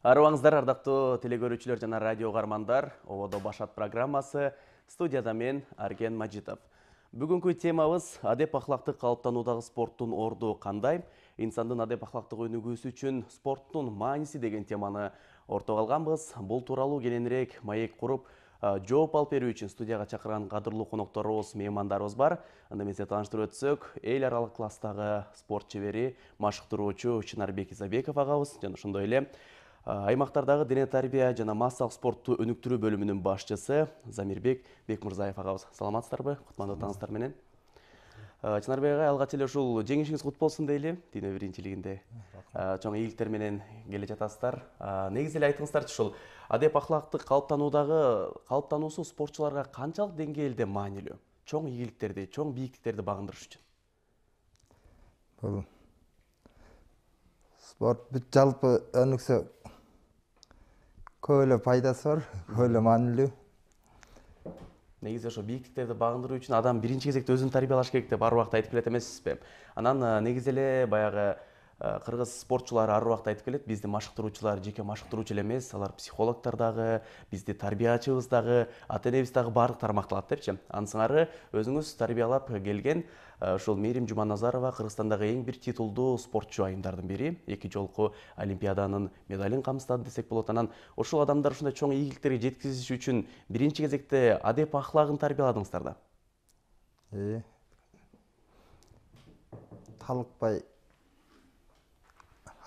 Арыбаңыздар, ардактуу телекөрүүчүлөр жана радио угармандар. Ободо башат программасы. Студияда мен Арген Мажитов. Бүгүнкү темабыз адеп ахлакты калыптануудагы спорттун орду кандай? Инсандын адеп ахлактык өнүгүүсү үчүн спорттун мааниси деген теманы ортого алганбыз. Бул тууралуу кененирээк маек куруп, жооп алып берүү үчүн студияга чакырган кадырлуу конокторубуз, меймандарыбыз бар. Анда мен сизге тааныштырып өтсөк, эл аралык класстагы спорт чебери, машыктыруучу Чынарбек Изабеков агабыз жана ошондой эле аймактардагы дене тарбия жана массалык спортту өнүктүрүү бөлүмүнүн башчысы Замирбек Бекмурзаев агабыз. Саламатсыздарбы? Кутмандуу таңыңыздар менен. Чынарбек агай, алгач эле ушул жеңишиңиз кут болсун дейли. Дүйнө биринчилигинде чоң ийгиликтер менен келе жатасыздар. Негизи эле айтыңыздарчы, ушул адеп ахлактык калыптануусу спортчуларга канчалык деңгээлде маанилүү? Чоң ийгиликтерди, чоң бийиктиктерди багындырыш үчүн. Бул спорт бүт жалпы өнүксө көп эле пайдасы бар, көп эле маанилүү. Негизи ошо бийиктиктерди багындыруу үчүн адам биринчи кезекте өзүн тарбиялаш керек деп ар убакта айтып келет эмессизби? Анан негизи эле баягы кыргыз спортчулары ар убакта айтып келет, бизди машыктыруучулар жеке машыктыруучу эле эмес, алар психологдор дагы, бизди тарбиячыбыз дагы, ата-энебиз дагы баардык тармакталат депчи. Анын сыңары өзүңүз тарбиялап келген ушул Мээрим Жуманазарова Кыргызстандагы эң бир титулдуу спортчу айымдардын бири, 2 жолку олимпиаданын медалин камсыздады десек болот. Анан ушул адамдар ушундай чоң ийгиликтерге жеткизиш үчүн биринчи кезекте адеп ахлагын тарбияладыңыздар да. Талыкпай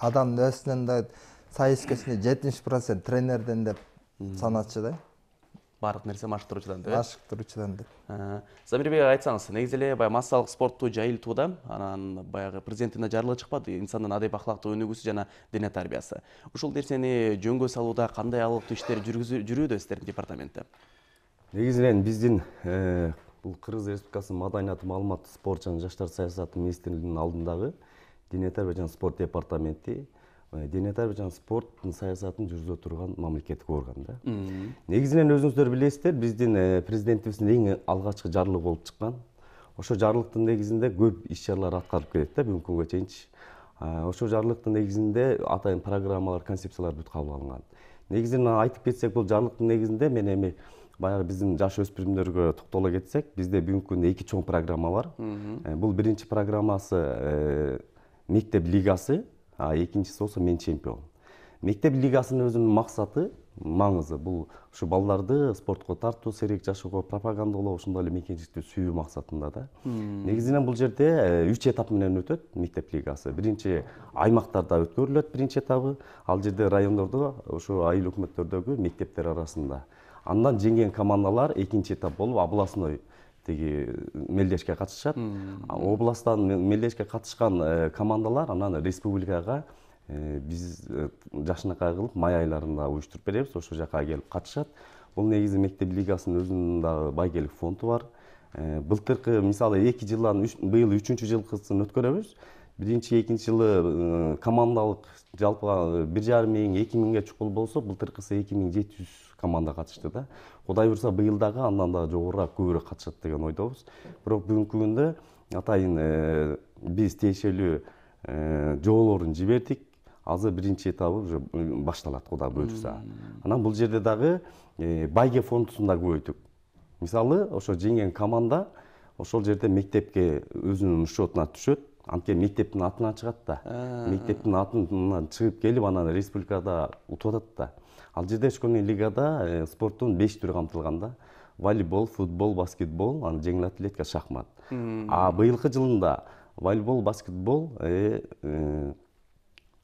адам өзүнөн да сайыс кечинде 70% тренерден деп саначу да. Баардык нерсе машыктыруучудан деп. Машыктыруучудан деп. Замирбек айтсаңыз, негизи эле баягы массалык спортту жайылтууда, анан баягы президенттин жарлыгы чыкпады, инсандын адеп ахлактык өнүгүүсү жана дене тарбиясы. Ушул нерсени жөнгө салууда кандай алыктуу иштер жүрүүдө сиздердин департаментте? Негизинен биздин бул Кыргыз Республикасынын Маданият, маалымат, спорт жана жаштар саясаты министрлигинин алдындагы дене тарбия жана спорт департаменти дене тарбия жана спорттун саясатын жүргүзө турган мамлекеттик орган да. Негизинен өзүңүздөр билесиздер, биздин президентибиздин эң алгачкы жарлыгы болуп чыккан. Ошо жарлыктын негизинде көп иш-чаралар аткарылып келет да бүгүнкү күнгө чейинчи. Ошо жарлыктын негизинде атайын программалар, концепциялар бүт кабыл алынган. Негизинен айтып кетсек, бул жарлыктын негизинде мен эми баягы биздин жаш өспүрүмдөргө токтоло кетсек, бизде бүгүнкү күндө 2 чоң программа бар. Бул биринчи программасы мектеп лигасы, экинчиси болсо мен чемпион. Мектеп лигасынын өзүнүн максаты, маңызы бул ушу балдарды спортко тартуу, сейрек жашоого пропагандалоо, ошондой эле мекенчиликти сүйүү максатында да. Негизинен бул жерде 3 этап менен өтөт мектеп лигасы. Биринчи аймактарда өткөрүлөт биринчи этабы, ал жерде райондордо, ошо айыл өкмөттөрдөгү мектептер арасында. Андан жеңген командалар экинчи этап болуп областной мелдешке катышат. Областтан мелдешке катышкан командалар анан республикага биз жакшынакай кылып май айларында уюштуруп беребиз, ошол жака келип катышат. Бул негизи мектеп лигасынын өзүнүн дагы байгелик фонду бар. Былтыркы мисалы 2 жылдан быйыл 3-чү жылкысын өткөрөбүз. Биринчи, экинчи жылы командалык жалпы 1,5 миң, 2 миңге чукул болсо, былтыркысы 2700 команда катышты да. Кудай буйрса быйыл дагы андан да жогорураак, көбүрөөк катышат деген ойдобуз. Бирок бүгүнкү күндө атайын биз тиешелүү жоолорун жибердик. Азыр биринчи этабы уже башталат, Кудай буйрса. Анан бул жерде дагы байге фондусун да көбөйттүк. Мисалы, ошо жеңген команда ошол жерде мектепке өзүнүн счетуна түшөт. Анткени мектептин атынан чыгат да. Мектептин атынан чыгып келип, анан республикада утуп атат да. Ал жерде школьный лигада спорттун 5 түрү камтылган да. Волейбол, футбол, баскетбол, анан жеңил атлетика, шахмат. Быйылкы жылында волейбол, баскетбол,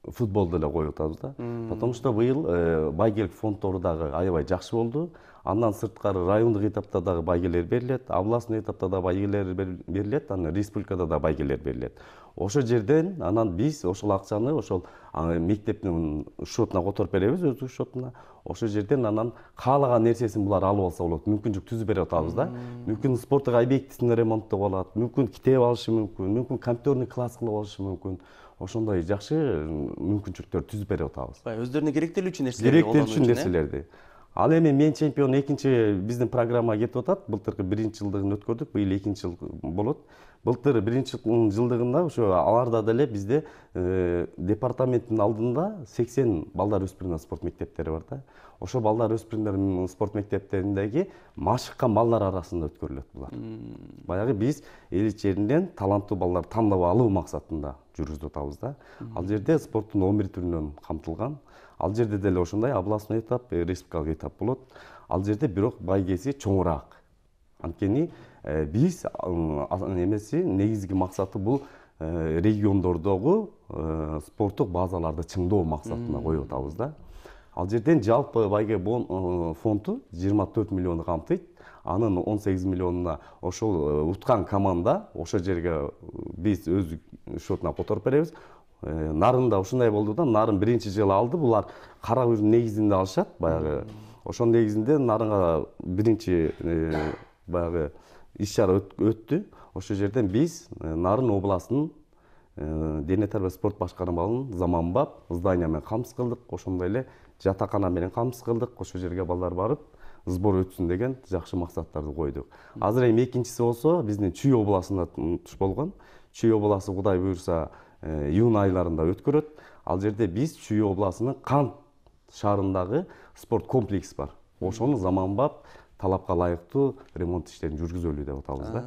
футболду эле коюп атабыз да. Потому что быйыл байгелик фонддору дагы аябай жакшы болду. Андан сырткары райондук этапта дагы байгелер берилет, областной этапта да байгелер берилет, анан республикада да байгелер берилет. Ошол жерден анан биз ошол акчаны ошол мектептин счетуна которуп беребиз, өздүк счетуна. Ошол жерден анан каалаган нерсесин булар алып алса болот. Мүмкүнчүлүк түзүп берип атабыз да. Мүмкүн спорттук объектисин ремонттоп алат, мүмкүн китеп алышы мүмкүн, мүмкүн компьютерный класс кылып алышы мүмкүн. Ошондой жакшы мүмкүнчүлүктөр түзүп берип атабыз. Өздөрүнө керектелүүчү нерселерди колдонуу үчүн. Керектелүүчү нерселерди. Ал эми мен чемпион экинчи биздин программага кетип атат. Былтыркы 1-жылдыгын өткөрдүк, быйыл 2-жыл болот. Былтыр 1-жылдыгында ошо аларда деле бизде департаменттин алдында 80 балдар өспүрүмдөр спорт мектептери бар да. Ошо балдар өспүрүмдөр спорт мектептериндеги машыккан балдар арасында өткөрүлөт булар. Баягы биз эл ичеринен таланттуу балдар тандап алуу максатында жүргүзүп атабыз да. Ал жерде спорттун 11 түрүнөн камтылган. Ал жерде деле ошондой областной этап, республикалык этап болот. Ал жерде бирок байгеси чоңураак. Анткени биз эмеси негизги максаты бул региондордогу спорттук базаларды чыңдоо максатына коюп атабыз да. Ал жерден жалпы байге фонду 24 миллионду камтыйт. Анын 18 миллионуна ошол уткан команда ошол жерге биз өз счетуна которуп беребиз. Нарында ушундай болду да, Нарын 1-жылы алды. Булар кара негизинде алышат, баягы. Ошон негизинде Нарынга биринчи баягы иш-чара өттү. Ошол жерден биз Нарын областынын дене тарбия спорт башкармалыгын заманбап здание менен камсыз кылдык. Ошондой эле жатакана менен камсыз кылдык. Ошол жерге балдар барып сбор өтсүн деген жакшы максаттарды койдук. Азыр эми экинчиси болсо биздин Чүй областында туш болгон. Чүй областы Кудай буйрса июнь айларында өткөрөт. Ал жерде биз Чүй областынын Кант шаарындагы спорт комплекс бар. Ошону заманбап талапка ылайыктуу ремонт иштерин жүргүзөлү деп атабыз да.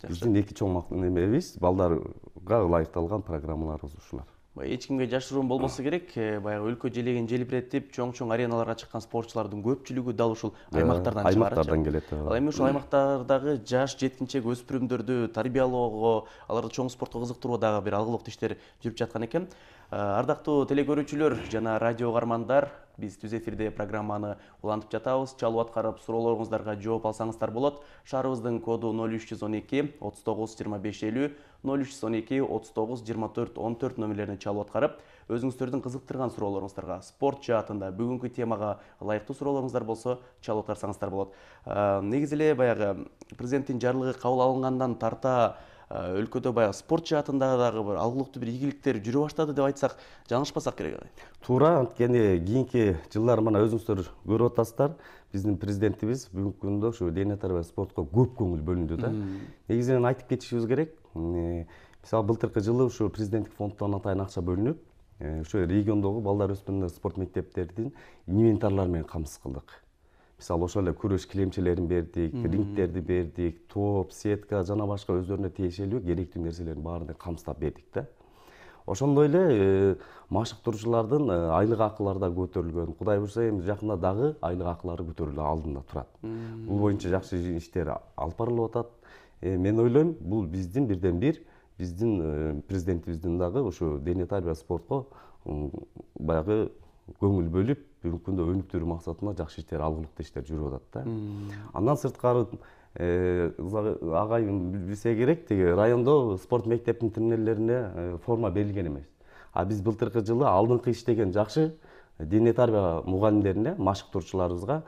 Биздин эки чоң немебиз балдарга ылайыкталган программаларыбыз ушулар. Эч кимге жашыруун болбосо керек, баягы өлкө желегин желбиретип, чоң ареналарга чыккан спортчулардын көпчүлүгү дал ушул аймактардан чыгарат. Аймактардан келет. Ал эми ушул аймактардагы жаш жеткинчек өспүрүмдөрдү тарбиялоого, аларды чоң спортко кызыктырууга дагы бир алгылыктуу иштер жүрүп жаткан экен. Ардактуу телекөрүүчүлөр жана радио угармандар, биз түз эфирде программаны улантып жатабыз. Чалуу аткарып суроолоруңуздарга жооп алсаңыздар болот. Шаарыбыздын коду 0312 39 25 50, 0312 39 24 14 номерлерине чалуу аткарып, өзүңүздөрдүн кызыктырган суроолоруңуздарга, спорт жаатында бүгүнкү темага ылайыктуу суроолоруңуздар болсо чалуу аткарсаңыздар болот. Негизи эле баягы президенттин жарлыгы кабыл алынгандан тарта өлкөдө баягы спорт жаатында дагы бир алгылыктуу бир ийгиликтер жүрө баштады деп айтсак, жаңылышпасак керек. Туура, анткени кийинки жылдары мына өзүңүздөр көрүп атасыздар, биздин президентибиз бүгүнкү күндө ушу дене тарбия спортко көп көңүл бөлүндү да. Негизинен айтып кетишибиз керек. Мисалы былтыркы жылы ушу президенттик фонддон атайын акча бөлүнүп, ушу региондогу балдар өспүрүмдөр спорт мектептердин инвентарлары менен камсыз кылдык. Мисалы ошол эле күрөш килемчелерин бердик, рингтерди бердик, топ, сетка жана башка өздөрүнө тиешелүү керектүү нерселердин баарын камсыздап бердик да. Ошондой эле машыктыруучулардын айлык акылары да көтөрүлгөн. Кудай буйрса эми жакында дагы айлык акылары көтөрүлүү алдында турат. Бул боюнча жакшы иштер алып барылып атат. Мен ойлойм, бул биздин бирден бир биздин президентибиздин дагы ушу дене тарбия спортко баягы көңүл бөлүп, бүгүнкү күндө өнүктүрүү максатында жакшы иштер, алгылыктуу иштер жүрүп атат да. Андан сырткары агайым билсе керек, тиги райондо спорт мектептин тренерлерине форма берилген эмес. А биз былтыркы жылы алдыңкы иштеген жакшы дене тарбия мугалимдерине, машыктыруучуларыбызга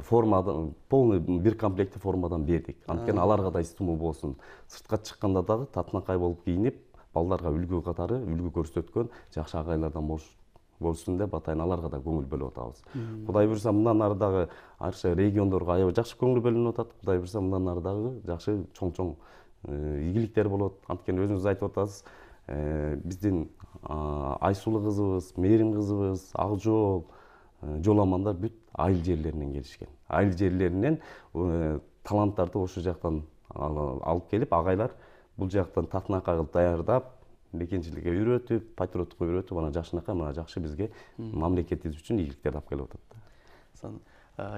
формадан полный бир комплекти формадан бердик. Анткени аларга да стимул болсун. Сыртка чыкканда дагы татынакай болуп кийинип, балдарга үлгү катары үлгү көрсөткөн жакшы агайлардан болсун деп атайын аларга да көңүл бөлүп атабыз. Кудай буйрса мындан ары дагы арча региондорго аябай жакшы көңүл бөлүнүп атат. Кудай буйрса мындан ары дагы жакшы чоң ийгиликтер болот. Анткени өзүңүз айтып атасыз, биздин Айсулуу кызыбыз, Мээрим кызыбыз, Акжол, жоламандар бүт айыл жерлеринен келишкен. Айыл жерлеринен таланттарды ошол жактан алып келип, агайлар бул жактан татынакай кылып даярдап, мекенчиликке үйрөтүп, патриоттукка үйрөтүп, анан жакшынакай мына жакшы бизге мамлекетибиз үчүн ийгиликтерди алып келип атат.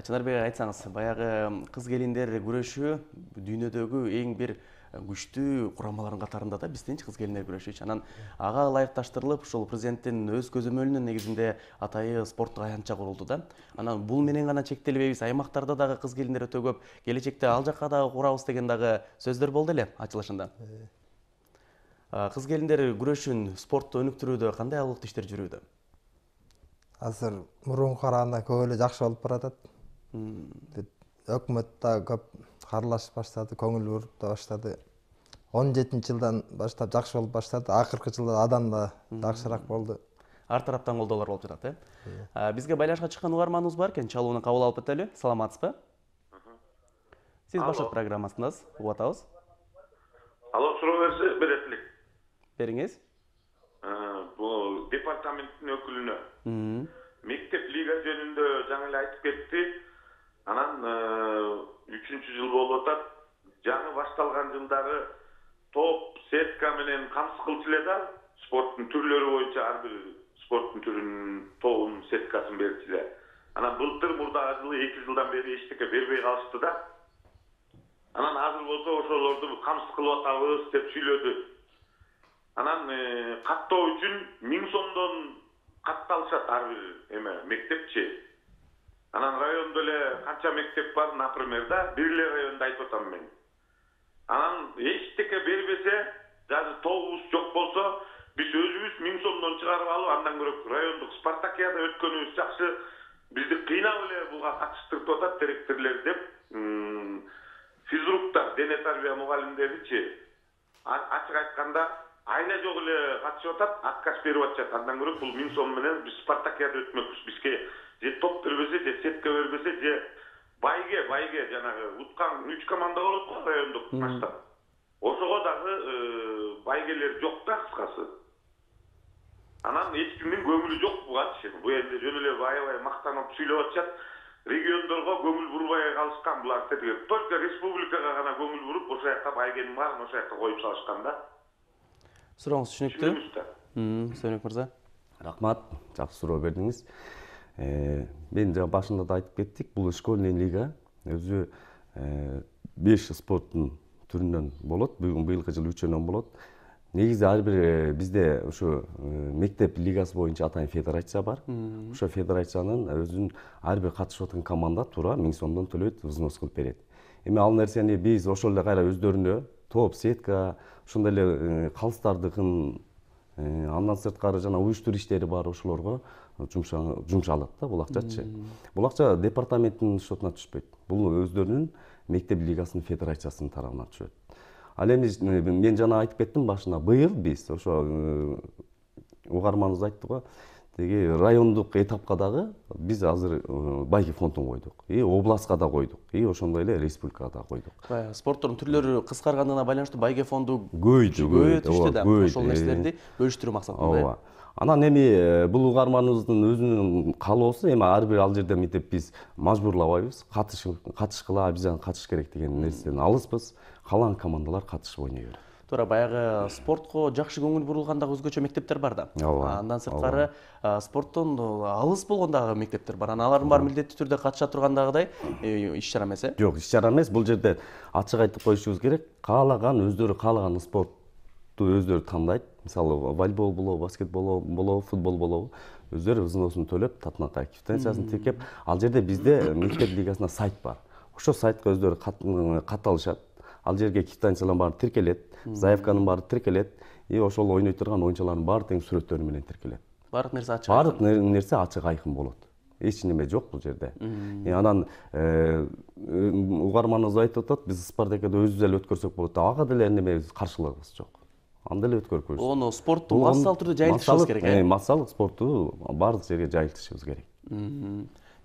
Чынарбек айтсаңыз, баягы кыз келиндер күрөшү дүйнөдөгү эң бир күчтүү курамалардын катарында да биздинчи кыз келиндер күрөшүчү. Анан ага ылайыкташтырылып, ушул президенттин өз көзөмөлүнүн негизинде атайы спорттук аянтча курулду да. Анан бул менен гана чектелбейбиз, аймактарда дагы кыз келиндер өтө көп, келечекте ал жакка дагы курабыз деген дагы сөздөр болду эле ачылышында. Кыз келиндер күрөшүн, спортту өнүктүрүүдө кандай алгылыктуу иштер жүрүүдө? Азыр мурунга караганда көп эле жакшы болуп баратат. Өкмөт да көп аралашып баштады, көңүл буруп да баштады. 17-жылдан баштап жакшы болуп баштады. Акыркы жылда адам да жакшыраак болду. ар тараптан колдоолор болуп жатат, бизге байланышка чыккан угарманыбыз бар экен, чалууну кабыл алып кетели. Саламатсызбы? Сиз башат программасындасыз, угуп атабыз. Алло, суроо берет элек. Бериңиз. Бул департаменттин өкүлүнө мектеп лига жөнүндө жаңы эле айтып кетти. Анан 3-жыл болуп атат. Жаңы башталган жылдары топ, сетка менен камсыз кылчу эле да, спорттун түрлөрү боюнча ар бир спорттун түрүнүн тобун, сеткасын берчү эле. Анан былтыр мурдагы жылы 2 жылдан бери эчтеке бербей калышты да. Анан азыр болсо ошолорду камсыз кылып атабыз деп сүйлөдү. Анан каттоо үчүн 1000 сомдон катталышат ар бир мектепчи. Анан райондо эле канча мектеп бар, например, да, бир эле районду айтып атам мен. Анан эчтеке бербесе, даже тобубуз жок болсо, биз өзүбүз 1000 сомдон чыгарып алып, андан көрө райондук спартакиада өткөнүбүз жакшы. Бизди кыйнап эле буга катыштырып атат директорлор деп, физруктар, дене тарбия мугалимдеричи ачык айтканда айла жок эле катышып атат, отказ берип атышат. Андан көрө бул 1000 сом менен биз спартакиада өтмөкпүз. Бизге же топ бербесе, же сетка бербесе, же байге жанагы уткан 3 команда болот го райондук матчта. Ошого дагы байгелер жок да, кыскасы. Анан эч кимдин көңүлү жок бугачы. Бу эле жөн эле аябай мактанып сүйлөп атышат. Региондорго көңүл бурбай калышкан булар тетиги. Только республикага гана көңүл буруп, ошо жака байгенин баарын ошо жака коюп салышкан да. Сурооңуз түшүнүктүү. Сөнөк мырза. Рахмат, жакшы суроо бердиңиз. Мен жана башында да айтып кеттик, бул школьный лига өзү 5 спорттун түрүнөн болот. Быйылкы жылы 3-өнөн болот. Негизи ар бир бизде ушу мектеп лигасы боюнча атайын федерация бар. Ошо федерациянын өзүнүн ар бир катышып аткан команда туура 1000 сомдон төлөйт, взнос кылып берет. Эми ал нерсени биз ошол эле кайра өздөрүнө топ, сетка, ошондой эле калыстардыкын, андан сырткары жана уюштуруу иштери бар, ошолорго жумшалат да бул акчачы. Бул акча департаменттин шотуна түшпөйт. Бул өздөрүнүн мектеп лигасынын федерациясынын тарабына түшөт. Ал эми мен жана айтып кеттим башында, быйыл биз ошо угарманыбыз айтты го, теги райондук этапка дагы биз азыр байге фондун койдук. Областка да койдук. Ошондой эле республикага да койдук. Спорттун түрлөрү кыскаргандыгына байланыштуу байге фонду көбөйтүштү да. Ошол нерселерди бөлүштүрүү максатында. Ооба. Анан эми бул угарманыбыздын өзүнүн каалоосу, эми ар бир ал жерде мынтип биз мажбурлабайбыз. Катышкыла, биз катыш керек деген нерседен алыспыз. Калган командалар катышып ойной берет. Туура, баягы спортко жакшы көңүл бурулган дагы өзгөчө мектептер бар да. Андан сырткары спорттон алыс болгон дагы мектептер бар. Алардын баары милдеттүү түрдө катыша тургандагыдай иш-чара эмес, Жок, иш-чара эмес. Бул жерде ачык айтып коюшубуз керек. Өздөрү каалаган спортту өздөрү тандайт. Мисалы, волейбол болобу, баскетбол болобу, футбол болобу, өздөрү взносун төлөп, татынакай квитанциясын тиркеп, ал жерде бизде мектеп лигасына сайт бар. Ошол сайтка өздөрү катталышат. Ал жерге квитанциялар баары тиркелет, заявканын баары тиркелет, ошол ойной турган ойунчулардын баары тең сүрөттөрү менен тиркелет. Баардык нерсе ачык. Баардык нерсе ачык айкын болот. Эч неме жок бул жерде. Анан угарманыбыз айтып атат, биз спартакиада өзүбүз эле өткөрсөк болот. Ага деле неме каршылыгыбыз жок. Анда эле өткөрбүз. Ону спортту массалык түрдө жайылтышыбыз керек, Массалык спортту баардык жерге жайылтышыбыз керек.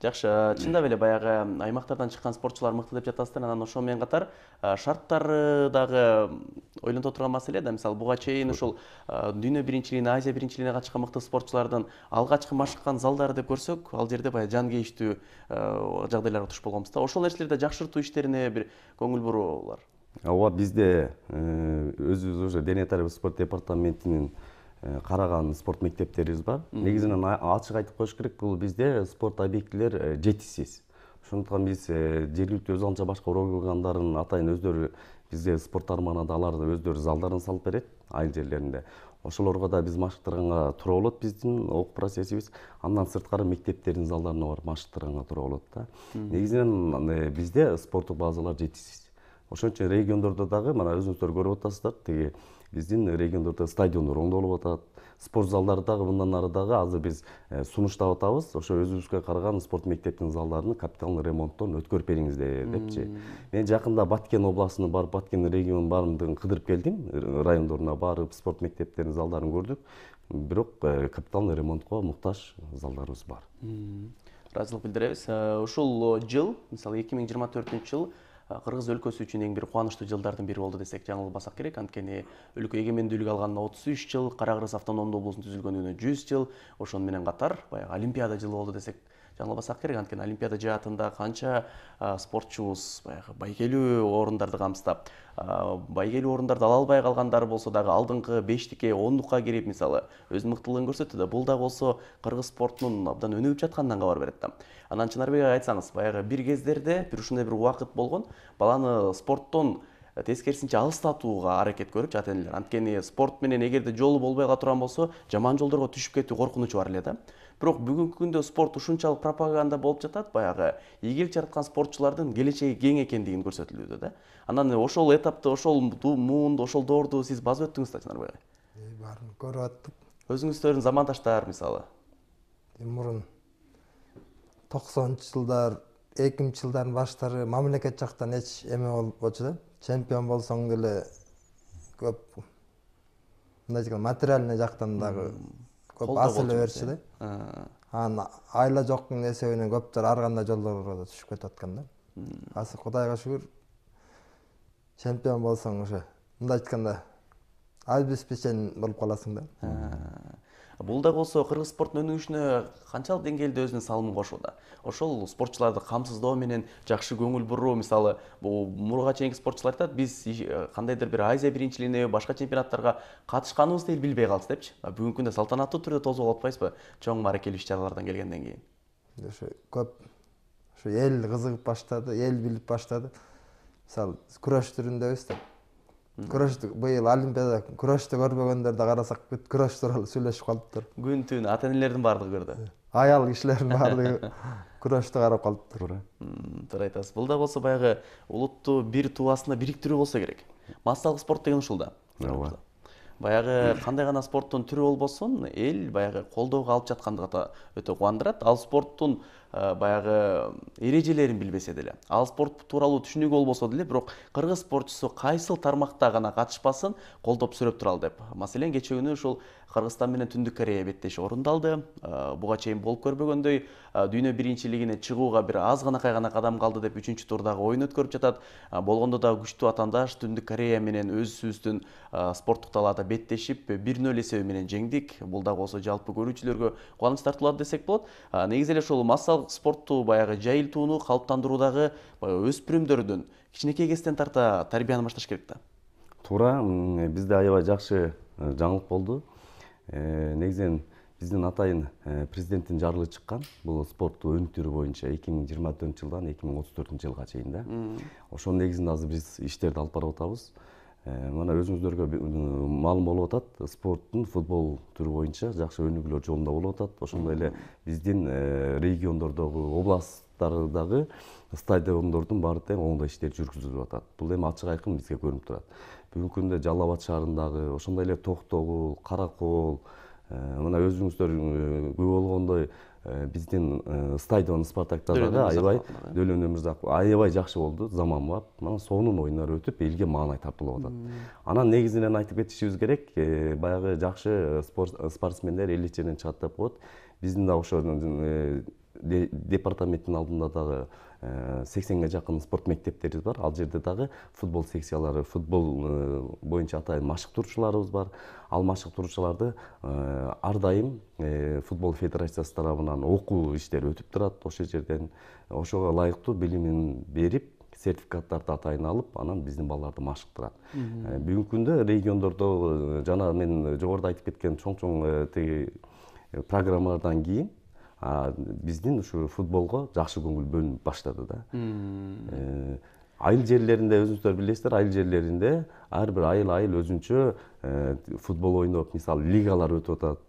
Жакшы, чындап эле баягы аймактардан чыккан спортчулар мыкты деп жатасыздар. Анан ошол менен катар шарттары дагы ойлонто турган маселе да. Мисалы, буга чейин ушул дүйнө биринчилигине, Азия биринчилигине катышкан мыкты спортчулардын алгачкы машыккан залдары деп көрсөк, ал жерде баягы жан кейиштүү жагдайларга туш болгонбуз да. Ошол нерселерди жакшыртуу иштерине бир көңүл буруулар. Ооба, бизде өзүбүз уже дене тарбия спорт департаментинин караган спорт мектептерибиз бар. Негизинен ачык айтып коюш керек, бул бизде спорт объектилер жетишсиз. Ошондуктан биз жергиликтүү өз алынча башка органдардын атайын өздөрү бизде спорт тармагында алар өздөрү залдарын салып берет айыл жерлеринде. Ошолорго да биз машыктырганга туура болот биздин окуу процессибиз. Андан сырткары мектептердин залдарына барып машыктырганга туура болот да. Негизинен бизде спорттук базалар жетишсиз. Ошон үчүн региондордо дагы мына өзүңүздөр көрүп атасыздар, теги биздин региондордо стадиондор оңдолуп атат. Спорт залдары дагы мындан ары дагы азыр биз сунуштап атабыз. Ошо өзүбүзгө караган спорт мектептин залдарын капиталдык ремонттон өткөрүп бериңиздер депчи. Мен жакында Баткен областына барып, Баткен регионун баардыгын кыдырып келдим. Райондоруна барып, спорт мектептеринин залдарын көрдүк. бирок капиталдык ремонтко муктаж залдарыбыз бар. Ыраазылык билдиребиз. Ушул жыл, мисалы 2024-жыл Кыргыз өлкөсү үчүн эң бир кубанычтуу жылдардын бири болду десек жаңылбасак керек. Анткени өлкө эгемендүүлүк алганына 33 жыл, Кара Кыргыз автономдуу облусунун түзүлгөнүнө 100 жыл, ошону менен катар баягы Олимпиада жылы болду десек жаңылбасак керек. Анткени Олимпиада жаатында канча спортчубуз баягы байгелүү орундарды камсыздап, байгелүү орундарды ала албай калгандар болсо дагы алдыңкы 5-тикке, 10-дукка кирип мисалы өз мыктылыгын көрсөттү да. Бул дагы болсо Кыргыз спортунун абдан өнүгүп жатканынан кабар берет да. Анан Чынарбек ага айтсаңыз, баягы бир кездерде бир ушундай бир убакыт болгон, баланы спорттон тескерисинче алыстатууга аракет көрүпчү ата-энелер. Анткени спорт менен эгерде жолу болбой кала турган болсо, жаман жолдорго түшүп кетүү коркунучу бар эле да. Бирок бүгүнкү күндө спорт ушунчалык пропаганда болуп жатат, баягы ийгилик жараткан спортчулардын келечеги кең экендигин көрсөтүлүүдө да. Анан ошол этапты, ошол муунду, ошол доорду сиз басып өттүңүз да, Чынарбек ага. Баарын көрүп аттык. Өзүңүздөрдүн замандаштар мисалы. Мурун 90-жылдар, 2000-жылдардын баштары мамлекет жактан эч эме болбочу да. Чемпион болсоң деле көп мындай дегенде материальный жактан дагы көп асылы берчү да. Анан айла жоктун эсебинен көптөр ар кандай жолдорго да түшүп кетип аткан да. Азыр Кудайга шүгүр чемпион болсоң уже мындай айтканда обеспечен болуп каласың да. Бул да болсо кыргыз спорттун өнүгүшүнө канчалык деңгээлде өзүнүн салымын кошууда? Ошол спортчуларды камсыздоо менен жакшы көңүл буруу, мисалы, бул мурга чейинки спортчулар айтат, биз кандайдыр бир Азия биринчилигине, башка чемпионаттарга катышканыбызды билбей калды депчи. Бүгүнкү күндө салтанаттуу түрдө тосуп алып атпайсызбы? Чоң мааракелүү иш-чаралардан келгенден кийин. Ошо көп ошо эл кызыгып баштады, эл билип баштады. Мисалы, күрөш түрүндөбүз да. Күрөштү быйыл Олимпиада күрөштү көрбөгөндөрдү карасак, бүт күрөш тууралуу сүйлөшүп калыптыр. Күн түн ата-энелердин баардыгы көрдү. Аял кишилердин баардыгы күрөштү карап калыптыр. Туура айтасыз. Бул да болсо баягы улутту бир тууасында бириктирүү болсо керек. Массалык спорт деген ушул да. Ооба. Баягы кандай гана спорттун түрү болбосун, эл баягы колдоого алып жаткандыгы өтө кубандырат. Ал спорттун баягы эрежелерин билбесе деле, ал спорт тууралуу түшүнүгү болбосо деле, бирок кыргыз спортчусу кайсыл тармакта гана катышпасын, колдоп сүрөп туралы деп. Маселен, кечээ күнү ушул Кыргызстан менен Түндүк Корея беттеши орундалды. Буга чейин болуп көрбөгөндөй дүйнө биринчилигине чыгууга бир аз гана кадам калды деп 3-турдагы оюн өткөрүп жатат. Болгондо да күчтүү атаандаш Түндүк Корея менен өзүбүздүн спорттук талаада беттешип 1-0 эсеби менен жеңдик. Бул да болсо жалпы көрүүчүлөргө кубаныч тартуулады десек болот. Негизи эле ошол массалык спортту баягы жайылтууну калыптандыруудагы өспүрүмдөрдүн кичинекей кезден тарта тарбияны башташ керек да. Туура, бизде аябай жакшы жаңылык болду. Негизинен биздин атайын президенттин жарлыгы чыккан. Бул спортту өнүктүрүү боюнча 2024-жылдан 2034-жылга чейин да. Ошонун негизинде азыр биз иштерди алып барып атабыз. Мына өзүңүздөргө маалым болуп атат, спорттун футбол түрү боюнча жакшы өнүгүүлөр жолунда болуп атат. Ошондой эле биздин региондордогу, областтардагы стадиондордун баары тең оңдоо иштери жүргүзүлүп атат. Бул эми ачык айкын бизге көрүнүп турат. Бүгүнкү күндө Жалал Абад шаарындагы, ошондой эле Токтогул, Каракол, мына өзүңүздөр күбө болгондой биздин стадион Спартакта дагы аябай Дөлөн Өмүрзаков аябай жакшы болду, заманбап. Мына сонун оюндар өтүп, элге маанай тартуулап атат. Анан негизинен айтып кетишибиз керек, баягы жакшы спортсмендер эл ичинен чыгат деп коет. Биздин да ошо департаменттин алдында дагы 80-ге жакын спорт мектептерибиз бар. Ал жерде дагы футбол секциялары, футбол боюнча атайын машыктыруучуларыбыз бар. Ал машыктыруучуларды ар дайым футбол федерациясы тарабынан окуу иштери өтүп турат. Ошол жерден ошого ылайыктуу билимин берип, сертификаттарды атайын алып, анан биздин балдарды машыктырат. Бүгүнкү күндө региондордо жана мен жогоруда айтып кеткен чоң тиги программалардан кийин биздин ушу футболго жакшы көңүл бөлүнүп баштады да. Айыл жерлеринде өзүңүздөр билесиздер, айыл жерлеринде ар бир айыл өзүнчө футбол ойноп, мисалы лигалар өтүп атат.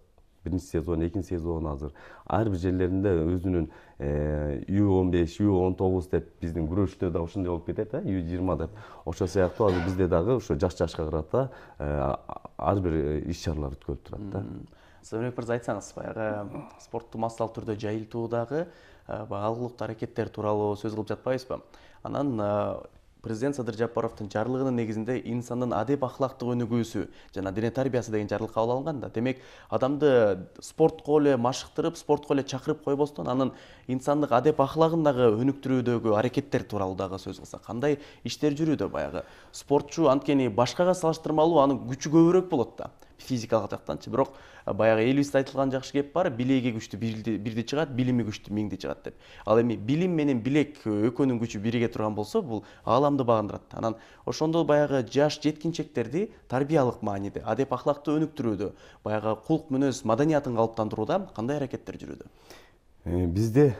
Биринчи сезон, экинчи сезон азыр. Ар бир жерлеринде өзүнүн U15, U19 деп биздин күрөштө да ошондой болуп кетет, U20 деп. Ошол сыяктуу азыр бизде дагы ошо жашка карата ар бир иш-чаралар өткөрүлүп турат да. Сабырбек мырза, айтсаңыз, баягы спортту массалык түрдө жайылтуудагы алгылыктуу аракеттер тууралуу сөз кылып жатпайбызбы? Анан президент Садыр Жапаровдун жарлыгынын негизинде инсандын адеп ахлактык өнүгүүсү жана дене тарбиясы деген жарлык кабыл алынган да. Демек, адамды спортко эле машыктырып, спортко эле чакырып койбостон, анын инсандык адеп ахлагын дагы өнүктүрүүдөгү аракеттер тууралуу дагы сөз кылсак, кандай иштер жүрүүдө? Баягы спортчу анткени башкага салыштырмалуу анын күчү көбүрөөк болот да, физикалык жактанчы. Бирок баягы элибизде айтылган жакшы кеп бар, билеги күчтүү бирди чыгат, билими күчтүү миңди чыгат деп. Ал эми билим менен билек экөөнүн күчү бириге турган болсо, бул ааламды багындырат. Анан ошондо баягы жаш жеткинчектерди тарбиялык мааниде, адеп ахлакты өнүктүрүүдө, баягы кулк мүнөз маданиятын калыптандырууда кандай аракеттер жүрүүдө? Бизде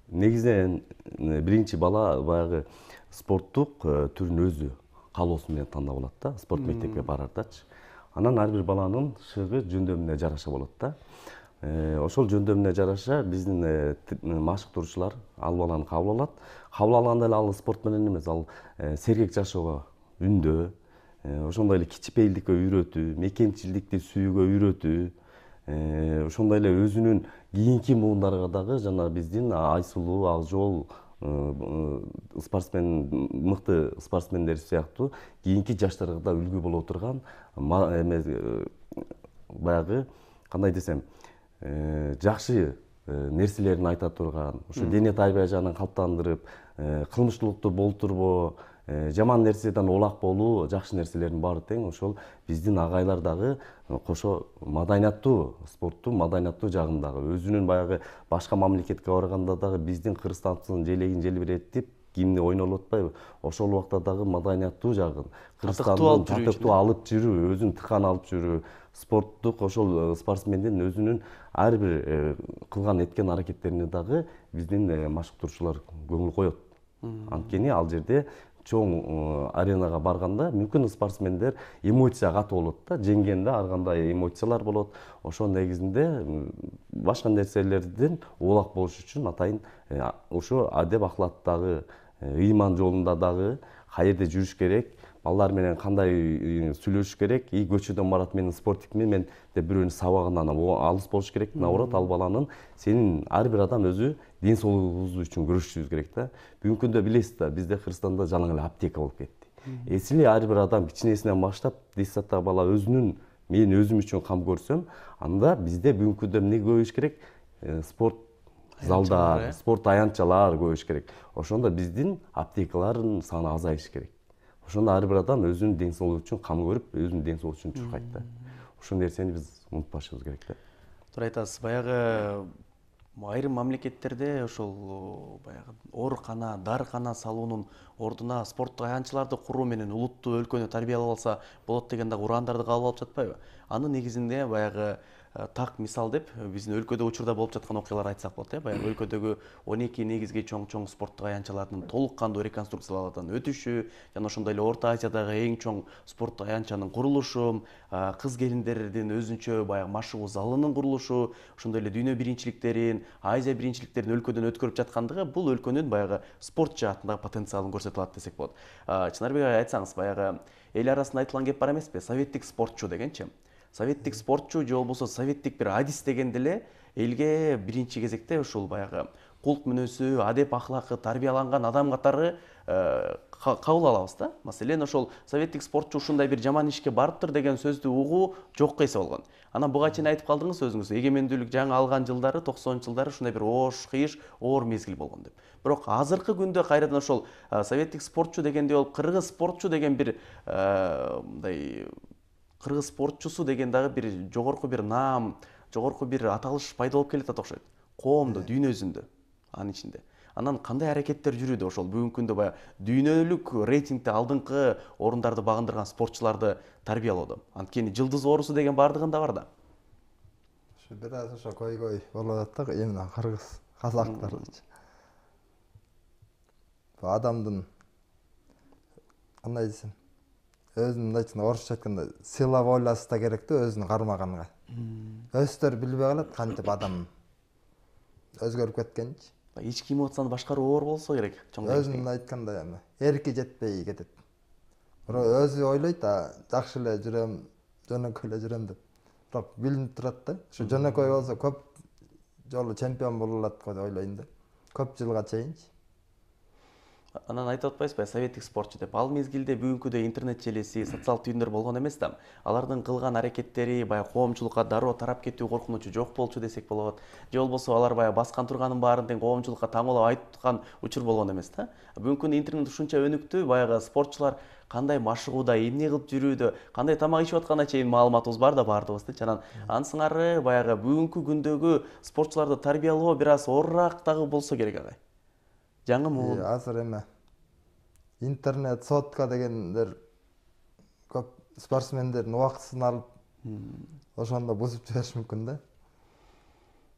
негизинен биринчи бала баягы спорттук түрүн өзү каалоосу менен тандап алат да, спорт мектепке барардачы. Анан ар бир баланын шыгы жөндөмүнө жараша болот да. Ошол жөндөмүнө жараша биздин машыктыруучулар ал баланы кабыл алат. Кабыл алганда эле ал спорт менен эмес, ал сергек жашоого үндөө, ошондой эле кичипейилдикке үйрөтүү, мекенчилдикти сүйүүгө үйрөтүү, ошондой эле өзүнүн кийинки муундарга дагы жана биздин Айсулуу, Акжол спортсмен, мыкты спортсмендер сыяктуу кийинки жаштарга да үлгү боло турган баягы кандай десем, жакшы нерселерин айта турган, ошо дене тарбия жагынан калыптандырып, кылмыштуулукту болтурбоо, жаман нерседен улак болуу, жакшы нерселердин баары тең ошол биздин агайлар дагы кошо маданияттуу спорттун маданияттуу жагындагы өзүнүн баягы башка мамлекетке барганда дагы биздин Кыргызстандын желегин желбиретип гимни ойнолуп атпайбы, ошол убакта дагы маданияттуу жагын, Кыргызстандын татыктуу алып жүрүү, өзүн тыкан алып жүрүү, спорттук ошол спортсмендин өзүнүн ар бир кылган эткен аракеттерине дагы биздин машыктыруучулар көңүл коет. Анткени ал жерде чоң аренага барганда мүмкүн спортсмендер эмоция катуу болот да, жеңгенде ар кандай эмоциялар болот. Ошол негизинде башка нерселерден улак болуш үчүн атайын ошо адеп ахлактагы, ыйман жолунда дагы каерде жүрүш керек, балдар менен кандай сүйлөшүш керек, көчөдөн барат менин спортикми, мен деп бирөөнүн сабагынан алыс болуш керек, наоборот, ал баланын сенин ар бир адам өзү ден соолугубуз үчүн күрөшүшүбүз керек да. Бүгүнкү күндө билесиз да, бизде Кыргызстанда жалаң эле аптека болуп кетти. Эсили ар бир адам кичинесинен баштап, детсадтагы бала өзүнүн, мен өзүм үчүн кам көрсөм, анда бизде бүгүнкү күндө эмне көбөйүш керек? Спорт залдар, спорт аянтчалар көбөйүш керек. Ошондо биздин аптекалардын саны азайыш керек. Ошондо ар бир адам өзүнүн ден соолугу үчүн кам көрүп, өзүнүн ден соолугу үчүн чуркайт да. Ошол нерсени биз унутпашыбыз керек да. Туура айтасыз. Баягы айрым мамлекеттерде ошол баягы оорукана, дарыкана салуунун ордуна спорттук аянтчаларды куруу менен улутту, өлкөнү тарбиялап алса болот деген дагы урандарды кабыл алып жатпайбы? Анын негизинде баягы так мисал деп биздин өлкөдө учурда болуп жаткан окуяларды айтсак болот. Баягы өлкөдөгү 12 негизги чоң спорттук аянтчалардын толук кандуу реконструкциялардан өтүшү, жана ошондой эле Орто Азиядагы эң чоң спорттук аянтчанын курулушу, кыз келиндердин өзүнчө баягы машыгуу залынын курулушу, ошондой эле дүйнө биринчиликтерин, Азия биринчиликтерин өлкөдөн өткөрүп жаткандыгы бул өлкөнүн баягы спорт жаатындагы потенциалын көрсөтүп алат десек болот. Чынарбек ага айтсаңыз, баягы эл арасында айтылган кеп бар эмеспи? Советтик спортчу дегенчи. Советтик спортчу же болбосо советтик бир адис дегенде эле элге биринчи кезекте ушул баягы кулк мүнөзү, адеп ахлакы тарбияланган адам катары кабыл алабыз да. Маселен, ошол советтик спортчу ушундай бир жаман ишке барыптыр деген сөздү угуу жокко эсе болгон. Анан буга чейин айтып калдыңыз өзүңүз, эгемендүүлүк жаңы алган жылдары, 90-жылдары ушундай бир оош, кыйыш, оор мезгил болгон деп. Бирок азыркы күндө кайрадан ошол советтик спортчу дегенде ол кыргыз спортчу деген бир мындай кыргыз спортчусу деген дагы бир жогорку бир наам, жогорку бир аталыш пайда болуп келатат окшойт. Коомдо, дүйнө жүзүндө, анын ичинде. Анан кандай аракеттер жүрүүдө ошол бүгүнкү күндө баягы дүйнөлүк рейтингде алдыңкы орундарды багындырган спортчуларды тарбиялоодо? Анткени жылдыз оорусу деген бардыгында бар да. Ушу бир аз ошо койгой болуп атат да, эмне кыргыз казактарчы. Бу адамдын кандай десем, өзүнүн мындайча орусча айтканда сила воласы да керек да өзүнү кармаганга. Өздөрү билбей калат кантип адам өзгөрүп кеткенчи. Ички эмоцияны башкаруу оор болсо керек. Өзүнүн айткандай эми эрки жетпей кетет. Бирок өзү ойлойт, жакшы эле жүрөм, жөнөкөй эле жүрөм деп. Бирок билинип турат да. Ушу жөнөкөй болсо көп жолу чемпион боло алат го деп ойлойм да. Көп жылга чейинчи. Анан айтып атпайсызбы, советтик спортчу деп. Ал мезгилде бүгүнкүдөй интернет желеси, социалдык түйүндөр болгон эмес да. Алардын кылган аракеттери баягы коомчулукка дароо тарап кетүү коркунучу жок болчу десек болот. Же болбосо алар баягы баскан турганын баарын тең коомчулукка таңоолоп айткан учур болгон эмес да. Бүгүнкү күндө интернет ушунча өнүктү, баягы спортчулар кандай машыгууда, эмне кылып жүрүүдө, кандай тамак ичип атканына чейин маалыматыбыз бар да баардыгыбыздын. Анан ансыңары баягы бүгүнкү күндөгү спортчуларды тарбиялоо бир аз оорураак дагы болсо керек агай. Жаңы муун. Азыр эме интернет, сотка дегендер көп спортсмендердин убактысын алып, ошондо бузуп жибериши мүмкүн да.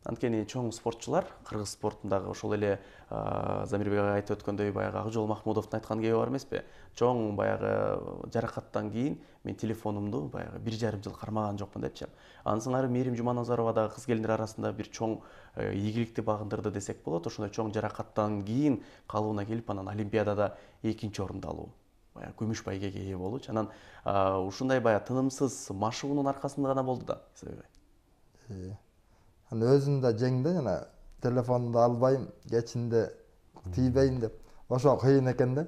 Анткени чоң спортчулар кыргыз спортундагы ошол эле Замирбек агай айтып өткөндөй баягы Акжол Махмудовдун айткан кеби бар эмеспи? Чоң баягы жаракаттан кийин мен телефонумду баягы 1,5 жыл кармаган жокмун депчи. Ансыңары Мээрим Жуманазарова дагы кыз келиндер арасында бир чоң ийгиликти багындырды десек болот. Ошондой чоң жаракаттан кийин калыбына келип, анан Олимпиадада 2-нчи орунду алуу, баягы күмүш байгеге ээ болуучу. Анан ушундай баягы тынымсыз машыгуунун аркасында гана болду да. Өзүм да жеңди, жана телефонду албайм, кечинде тийбейм деп. Ошо кыйын экен да.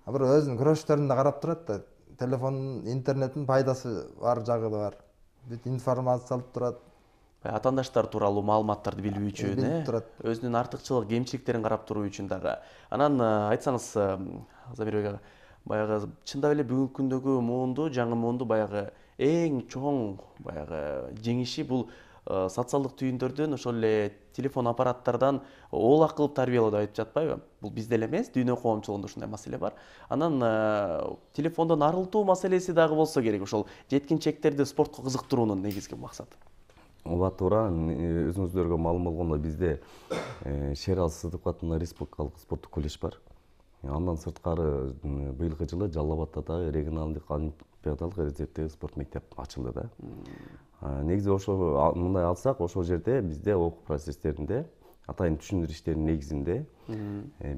Бир өзүнүн күрөштөрүн да карап турат да. Телефондун, интернеттин пайдасы бар, жагы да бар. Бүт информация алып турат. Атаандаштар тууралуу маалыматтарды билүү үчүн, өзүнүн артыкчылык, кемчиликтерин карап туруу үчүн дагы. Анан айтсаңыз, Замирбек ага, баягы чындап эле бүгүнкү күндөгү муунду, жаңы муунду баягы эң чоң баягы жеңиши бул социалдык түйүндөрдөн, ошол эле телефон аппараттардан оолак кылып тарбиялоо деп айтып жатпайбы? Бул бизде эле эмес, дүйнө коомчулугунда ушундай маселе бар. Анан телефондон арылтуу маселеси дагы болсо керек. Ошол жеткинчектерди спортко кызыктыруунун негизги максаты. Ооба туура, өзүңүздөргө маалым болгондой бизде Шерал Сыдыков атындагы республикалык спорттук колледж бар. Андан сырткары быйылкы жылы Жалал Абадта дагы регионалдык олимпиадалык резервдеги спорт мектеп ачылды да. Негизи ошо мындай алсак, ошол жерде бизде окуу процесстеринде, атайын түшүндүрүү иштеринин негизинде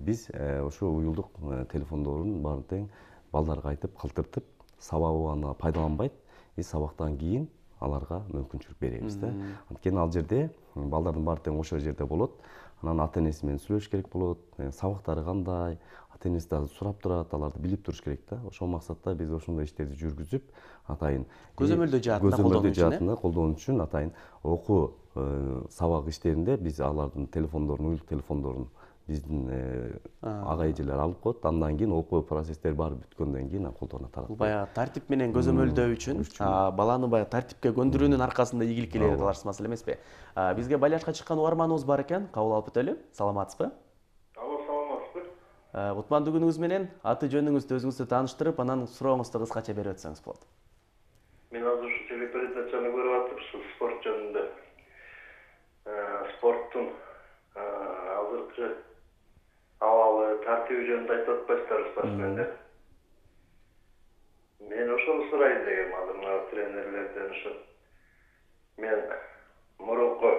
биз ошо уюлдук телефондорун баарын тең балдарга айтып, калтыртып, сабагы аны пайдаланбайт, сабактан кийин аларга мүмкүнчүлүк беребиз да. Анткени ал жерде балдардын баары тең ошол жерде болот. Анан ата-энеси менен сүйлөшүш керек болот. Сабактары кандай, ата-энеси дагы сурап турат, аларды билип туруш керек да. Ошол максатта биз ошондой иштерди жүргүзүп, атайын көзөмөлдөө жаатында колдонуу үчүн атайын окуу сабак иштеринде биз алардын телефондорун, уюлдук телефондорун биздин ага эжелер алып коет. Андан кийин окуу процесстери баары бүткөндөн кийин колдоно таратат. Баягы тартип менен көзөмөлдөө үчүн, баланы баягы тартипке көндүрүүнүн аркасында ийгилик келе аларсыз маселе эмеспи? Бизге байлашка чыккан угарманыбыз бар экен, кабыл алып өтөлү. Саламатсызбы? Алло, саламатсызбы? Кутмандуу күнүңүз менен аты жөнүңүздү өзүңүздү тааныштырып, анан сурооңузду кыскача берип өтсөңүз болот. Мен азыр ушу телепередачаны көрүп атып, ушу спорт жөнүндө спорттун азыркы абалы, тартиби жөнүндө айтып атпайсыздарбы спортсмендер. Мен ошону сурайын дегем азыр мына тренерлерден ушу. Мен мурунку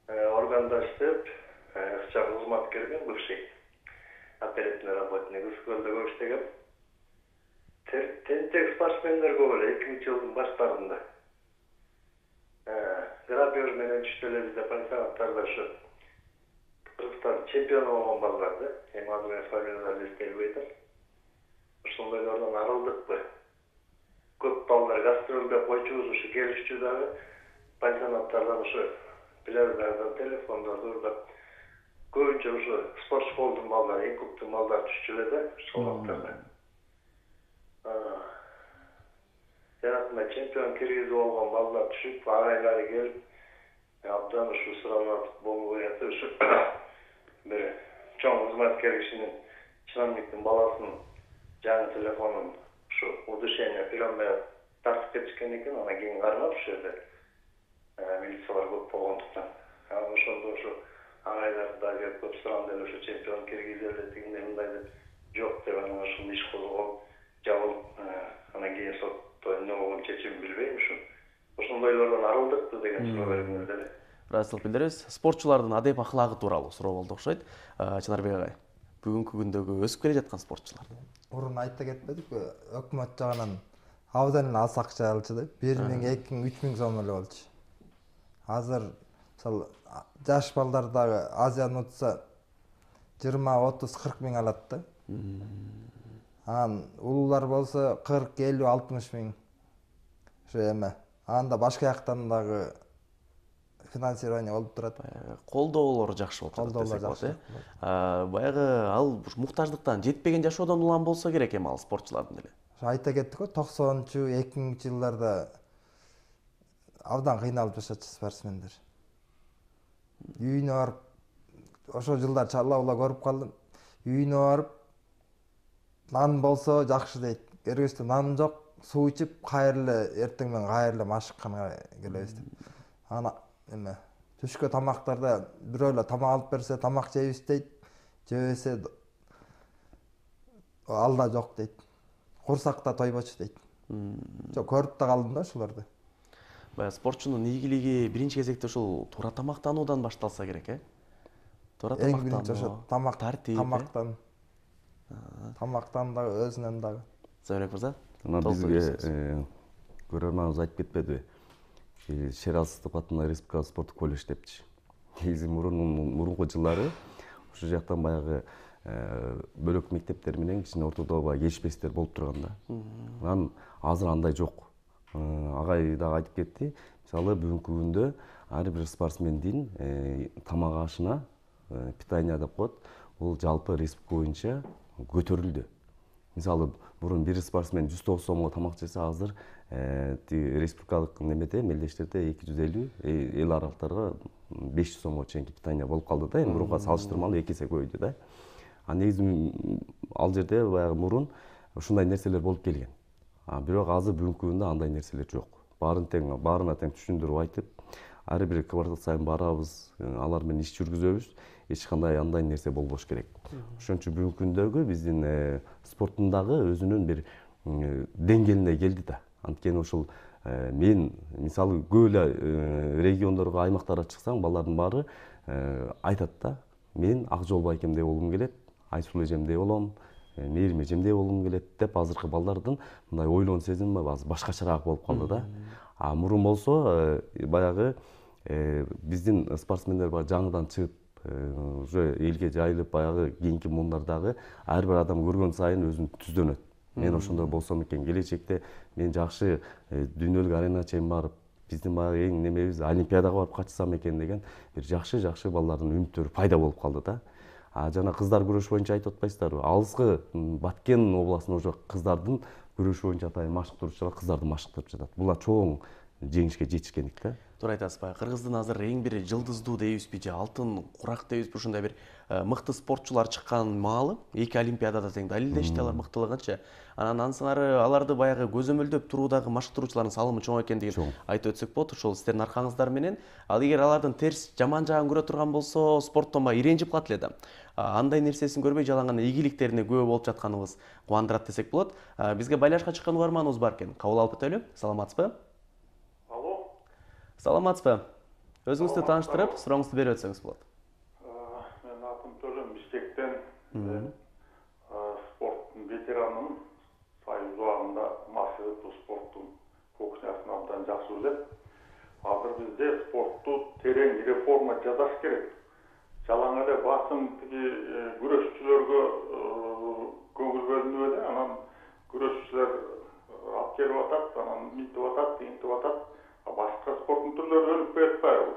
органда иштеп, ыкчам кызматкермин, бывший оперативный работник, Ысыкөлдө көп иштегем. Тентек спортсмендер көп эле 2000 жылдын баштарында. Грабеж менен түштү эле бизде пансионаттарда ушу Кыргызстан чемпиону болгон балдар да. Эми азыр мен фамилияларды эстебей атам. Ошондойлордон арылдыкпы? Көп балдар гастролдоп койчубуз, ушу келишчү дагы пансионаттардан ушу пляждардан телефондорду уруп көбүнчө ушу спорт школдун балдары, клубтун балдары түшчү эле да, ошол вакыттарда. Жанагындай чемпион киргизип болгон балдар түшүп, агайлары келип, абдан ушу суранат болуп жатып, ушу бир чоң кызматкер кишинин чиновниктин баласынын жаңы телефонун ушу удушение приемная тартып кетишкен экен, анан кийин кармап ушул жерде милициялар көп болгондуктан. Ошондо ушу агайлар дагы көп суранды эле, ушу чемпион киргизе эле тигиндей мындай деп жок деп, анан ушул иш козголуп, жабылып, анан кийин сотто эмне болгон чечимин билбейм ушу. Ошондойлордон арылдыкпы деген суроо бериңиз эле. Ыраазычылык билдиребиз. Спортчулардын адеп аклагы тууралуу суроо болду окшойт. Чынарбек агай, бүгүнкү күндөгү өсүп келе жаткан спортчулар. Мурун айта кетпедикпи? Өкмөт жагынан абдан эле аз акча алчу деп, 1000, 2000, 3000 сом эле болчу. Азыр мисалы жаш балдар дагы Азияны утса 20-30-40 миң алат да. Анан улуулар болсо 40-50-60 миң. Ошо эме. Анда башка жактан дагы финансирование болуп турат. Колдоолор жакшы болуп жатат Колдоолор десек болот, жакшы. Баягы ал муктаждыктан жетпеген жашоодон улам болсо керек эми ал спортчулардын деле. Ошо айта кеттик го 90-чу 2000-чы жылдарда абдан кыйналып жашачу спортсмендер. Үйүнө барып ошо жылдар чалла көрүп калдым. Үйүнө барып нан болсо жакшы дейт. Эргечте нан жок, суу ичип кайрылы эртең менен кайрылы машыкканга келебиз деп. Ана эме түшкө тамактарда бирөө эле тамак алып берсе тамак жейбиз дейт. Жебесе ал да жок дейт. Курсакта тойбочу дейт. Жок көрүп да калдым да ошолорду. Баягы спортчунун ийгилиги биринчи кезекте ушул туура тамактануудан башталса керек, Туура Эң биринчи ошо тамак, тартип, тамактан дагы өзүнөн дагы. Зайырбек мырза? Мына бизге көрөрманыбыз айтып кетпедиби? Шерал Сыздыков атындагы республикалык спорттук колледж депчи. Негизи мурунку жылдары ошол жактан баягы бөлөк мектептер менен кичине ортодо баягы кечпестер болуп турган да. Анан азыр андай жок. Агай дагы айтып кетти. Мисалы бүгүнкү күндө ар бир спортсмендин тамак ашына питание деп коет. Бул жалпы республика боюнча көтөрүлдү. Мисалы мурун бир спортсмен 190 сомго тамак жесе, азыр республикалык немеде мелдештерде 250, эл аралыктарга 500 сомго чейинки питание болуп калды да. Мурунга салыштырмалуу 2 эсе көбөйдү да. Негизи ал жерде баягы мурун ушундай нерселер болуп келген. Бирок азыр бүгүнкү күндө андай нерселер жок. Баарына тең түшүндүрүп айтып, ар бир квартал сайын барабыз, алар менен иш жүргүзөбүз. Эч кандай андай нерсе болбош керек. Ошон үчүн бүгүнкү күндөгү биздин спорттун дагы өзүнүн бир деңгээлине келди да. Анткени ушул мен мисалы көп эле региондорго, аймактарга чыксаң, балдардын баары айтат да, мен Акжол байкемдей болгум келет, Айсул эжемдей болом, Мээрим эжемдей болгум келет деп азыркы балдардын мындай ойлоон сезими башкачараак болуп калды да. Мурун болсо баягы биздин спортсмендер бар жаңыдан чыгып уже элге жайылып баягы кийинки мундардагы ар бир адам көргөн сайын өзүн түздөнөт. Мен ошондой болсом экен, келечекте мен жакшы дүйнөлүк аренага чейин барып, биздин баягы эң немебиз олимпиадага барып катышсам экен деген бир жакшы балдардын үмүттөрү пайда болуп калды да. Жана кыздар күрөш боюнча айтып атпайсыздарбы? Алыскы Баткен областында уже кыздардын күрөш боюнча атайын машыктыруучулар кыздарды машыктырып жатат. Булар чоң жеңишке жетишкендик да. Туура айтасызбы? Кыргыздын азыр эң бир жылдыздуу дейбизби же алтын курак дейбизби, ушундай бир мыкты спортчулар чыккан маалы, 2 олимпиадада тең далилдешти алар мыктылыгынчы. Анан ансынары аларды баягы көзөмөлдөп туруудагы машыктыруучулардын салымы чоң экендигин айтып өтсөк болот. Ошол сиздердин аркаңыздар менен. Ал эгер алардын терс жаман жагын көрө турган болсо, спорттон баягы иренжип калат эле да. Андай нерсесин көрбөй жалаң ийгиликтерине күбө болуп жатканыбыз кубандырат десек болот. Бизге байлашка чыккан угарманыбыз бар экен. Кабыл алып өтөлү. Саламатсызбы? Саламатсызбы? Өзүңүздү тааныштырып, сурооңузду берип өтсөңүз болот. Мен атым Төлөм Бишкектен, спорттун ветеранымын. Союз убагында массовый спорттун кухнясын абдан жакшы билем. Азыр бизде спортту терең реформа жасаш керек. Жалаң эле басым күрөшчүлөргө көңүл бөлүнүп эле, анан күрөшчүлөр алып келип атат, анан мынтип атат, тигинтип атат. Башка спорттун түрлөрү өнүп кетпайбы?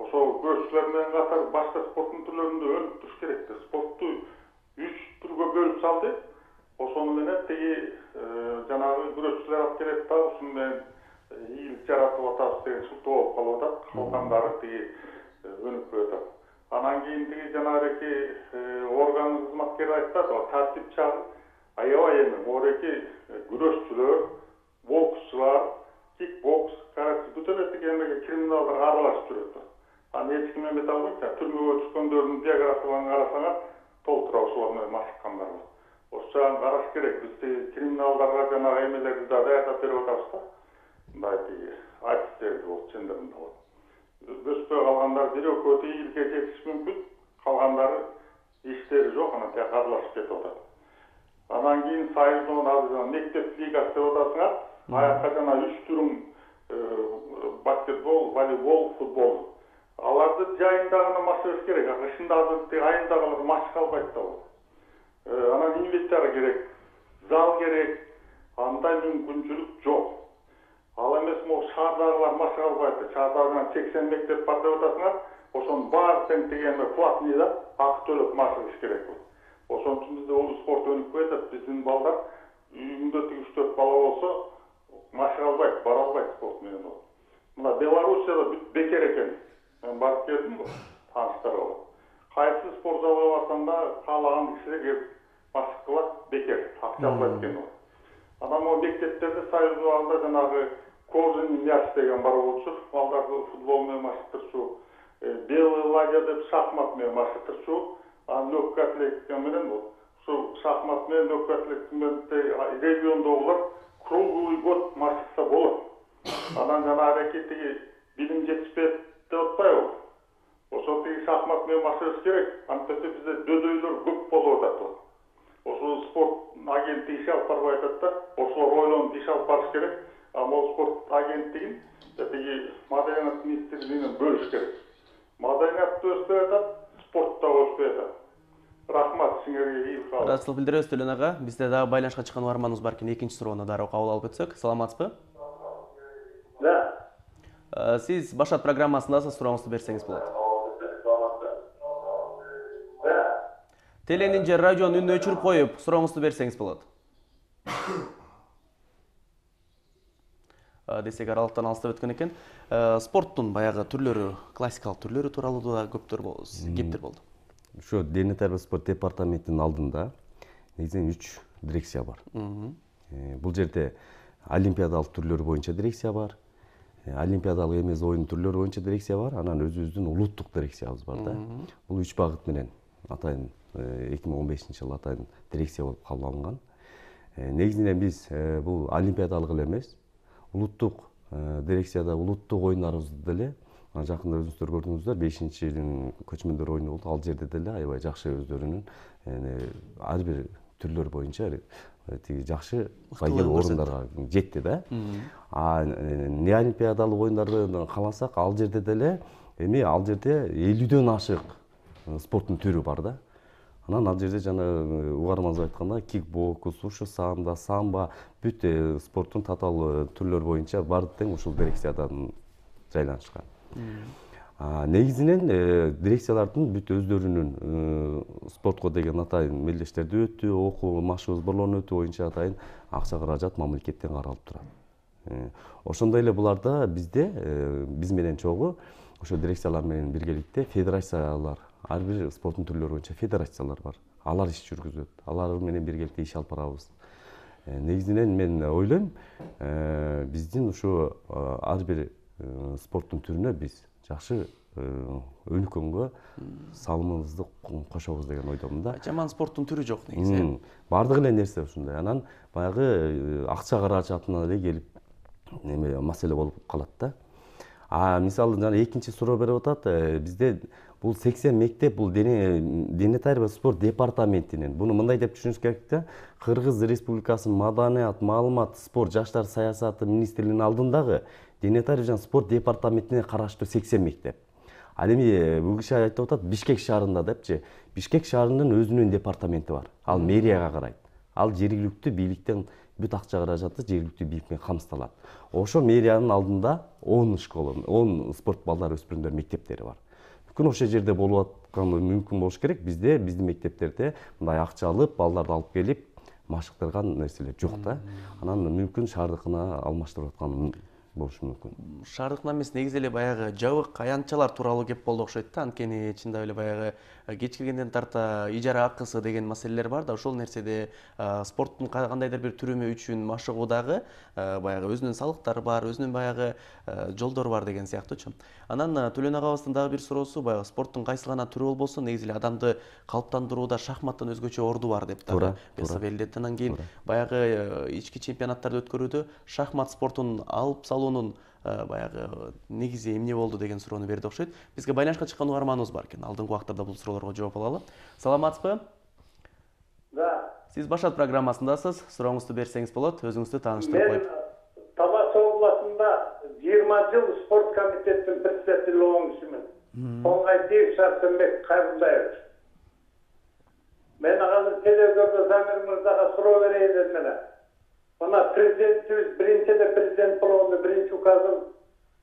Ошол күрөшчүлөр менен катар башка спорттун түрлөрүндө өнүктүрүш керек. Спортту 3 түргө бөлүп салды. Ошону менен тиги жанагы күрөшчүлөр алып келет да, ушуну менен ийгилик жаратып атабыз деген шылтоо болуп калып атат. Калгандары тиги өнүкпөй атат. Анан кийин тиги жанагы орган кызматкери айтат, тартип чагы. Аябай эми мореки күрөшчүлөр, боксчулар, кикбокс, карате бүтөн эмеге криминалдар аралашып жүрөт. Эч ким эме албайт, түрмөгө түшкөндөрдүн биографияларын карасаңар, толтура ошолор менен машыккандар бар. Ошол жагын караш керек. Биз криминалдарга жанагы эмелерди да даярдап берип атабыз да. Мындай артисттерди болуп, чындыгында болот. Өспөй калгандар бирөө ийгиликке жетиш мүмкүн, калгандары иштери жок, анан тияк аралашып кетип атат. Анан кийин Союздун азыр мектеп лигасы деп атасыңар. Аякка жана 3 түрүн баскетбол, волейбол, футбол. аларды жайында гана машыгыш керек. Кышында айындагылар машыга албайт да. Анан инвентарь керек, зал керек, андай мүмкүнчүлүк жок. Ал эмес могу шаардагылар машыга албайт. Шаарда 80 мектеп бар деп атасыңар. Ошонун баары тең тегеме платный да, акы төлөп машыгыш керек. Ошон үчүн бизде ол спорт өнүкпөй атат. Биздин балдар үйүндө 3-4 бала болсо машыга албайт, бара албайт спорт менен. Мына Белоруссияда бекер экен. Мен барып келдим, тааныштар бар. Кайсы спорт залга барсаң да каалаган кишилер келип машык кылат, бекер, акча албайт экен. Анан могу мектептерде союз убагында жанагы кожаный мяч деген бар болчу, балдарды футбол менен машыктырчу, белый лагерь деп шахмат менен машыктырчу, анан легкий атлетика менен ушу шахмат менен легкий атлетика менен региондогулар круглый год машыкса болот. Анан жана аракетиги билим жетишпейт деп атпайбы? Ошол тиги шахмат менен машыгыш керек. Антип бизде дөдөйлөр көп болуп атат. Ошол спорт агенттиги иш алып барбай атат да, ошолор ойлонуп иш алып барыш керек. Могу спорт агенттигин тиги маданият министрлигинен бөлүш керек. Маданият өспөй атат, спорт да өспөй атат. Рахмат сиңерге ийгилик каалайм. Ыраазычылык билдиребиз Төлөн ага. Бизде дагы байланышка чыккан угарманыбыз бар экен. Экинчи суроону дароо кабыл алып өтсөк. Саламатсызбы? Да. Сиз Башат программасындасыз, сурооңузду берсеңиз болот. Да. Теленин же радионун үнүн өчүрүп коюп, сурооңузду берсеңиз болот. Десек аралыктан алыстап өткөн экен. Спорттун баягы түрлөрү, классикалык түрлөрү тууралуу да кептер болду. Ошо дене тарбия спорт департаментинин алдында негизинен 3 дирекция бар. Бул жерде олимпиадалык түрлөр боюнча дирекция бар. Олимпиадалык эмес оюн түрлөрү боюнча дирекция бар. Анан өзүбүздүн улуттук дирекциябыз бар да. Бул 3 багыт менен атайын 2015-жылы атайын дирекция болуп кабыл алынган. Негизинен биз бул олимпиадалык эле эмес, улуттук дирекцияда улуттук оюндарыбызды деле жакында өзүңүздөр көрдүңүздөр, 5-чи көчмөндөр оюну болду. Ал жерде деле аябай жакшы өздөрүнүн ар бир түрлөр боюнча тиги жакшы байгел орундарга жетти да. Неолимпиадалык оюндарды кааласак, ал жерде деле ал жерде 50дөн ашык спорттун түрү бар да. Анан ал жерде жана угарманыбыз айткандай кикбокс, ушу самбо, бүт спорттун татаал түрлөр боюнча баары тең ушул дирекциядан жайланышкан. Негизинен дирекциялардын бүт өздөрүнүн спортко деген атайын мелдештерди өтүү, окуу машыгуу сборлорун өтүү боюнча атайын акча каражат мамлекеттен каралып турат. Ошондой эле буларда бизде биз менен чогуу ошо дирекциялар менен биргеликте федерациялар, ар бир спорттун түрлөрү боюнча федерациялар бар. Алар иш жүргүзөт. Алар менен биргеликте иш алып барабыз. Негизинен мен ойлойм, биздин ушу ар бир спорттун түрүнө биз жакшы өнүккөнгө салымыбызды кошобуз деген ойдомун да. Жаман спорттун түрү жок негизи. Бардык эле нерсе ушундай. Анан баягы акча каражатына эле келип маселе болуп калат да. Мисалы жана экинчи суроо берип атат. Бизде бул 80 мектеп бул дене тарбия спорт департаментинен. Буну мындай деп түшүнүш керек да. Кыргыз Республикасынын маданият, маалымат, спорт, жаштар саясаты министрлигинин алдындагы дене тарбия жана спорт департаментине караштуу 80 мектеп. Ал эми бул киши айтып атат Бишкек шаарында депчи. Бишкек шаарынын өзүнүн департаменти бар. Ал мэрияга карайт. Ал жергиликтүү бийликтен бүт акча каражаты жергиликтүү бийликке камсыздалат. Ошо мэриянын алдында 10 школа, 10 спорт балдар өспүрүмдөр мектептери бар. Мүмкүн ошол жерде болуп атканы мүмкүн болуш керек. Биздин мектептерде мындай акча алып, балдарды алып келип машыктырган нерселер жок да. Анан мүмкүн шаардыкына алмаштырып аткан болушу мүмкүн. Шаардыкына эмес, негизи эле баягы жабык аянтчалар тууралуу кеп болду окшойт да. Анткени чындап эле баягы кеч келгенден тарта ижара акысы деген маселелер бар да. Ошол нерседе спорттун кандайдыр бир түрүмү үчүн машыгуудагы баягы өзүнүн салыктары бар, өзүнүн баягы жолдору бар деген сыяктуучу. Анан Төлөн агабыздын дагы бир суроосу, баягы спорттун кайсы гана түрү болбосо, негизи эле адамды калыптандырууда шахматтын өзгөчө орду бар деп дагы белгиледи. Анан кийин баягы ички чемпионаттарды өткөрүүдө шахмат спортун алып салуунун баягы негизи эмне болду деген суроону берди окшойт. Бизге байланышка чыккан угарманыбыз бар экен. Алдыңкы убактарда бул суроолорго жооп алалы. Саламатсызбы? Да. Сиз Башат программасындасыз. Сурооңузду берсеңиз болот. Өзүңүздү тааныштырып коюп. Мен Талас областында 20 жыл спорт комитетинин председатели болгон кишимин. Оңгайтиев Сарсенбек Кайрымбаевич. Мен азыр телевизордо Замир мырзага суроо берейин дедим эле. Мына президентибиз биринчи эле президент болгондо биринчи указын